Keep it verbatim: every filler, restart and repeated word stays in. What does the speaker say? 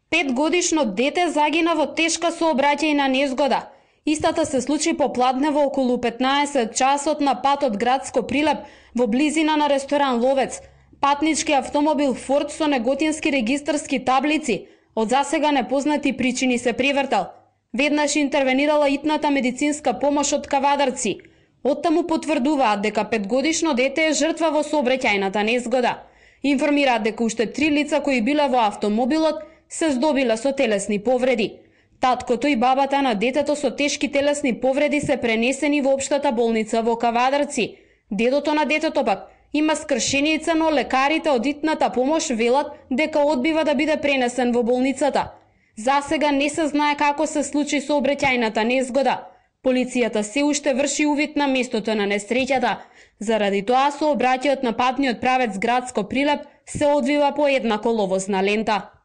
Петгодишно дете загина во тешка сообраќајна незгода. Истата се случи попладнево околу петнаесет часот на патот Градско Прилеп во близина на ресторан Ловец. Патнички автомобил Форд со неготински регистарски таблици од засега непознати причини се превртал. Веднаш интервенирала итната медицинска помош од Кавадарци. Оттаму потврдуваат дека петгодишно дете е жртва во сообраќајната незгода. Информираат дека уште три лица кои биле во автомобилот се здобиле со телесни повреди. Таткото и бабата на детето со тешки телесни повреди се пренесени во општата болница во Кавадарци. Дедото на детето пак има скршеница, но лекарите од итната помош велат дека одбива да биде пренесен во болницата. Засега не се знае како се случи сообраќајната незгода. Полицијата се уште врши увид на местото на несреќата. Заради тоа сообраќајот на патниот правец Градско Прилеп се одвива по една коловозна лента.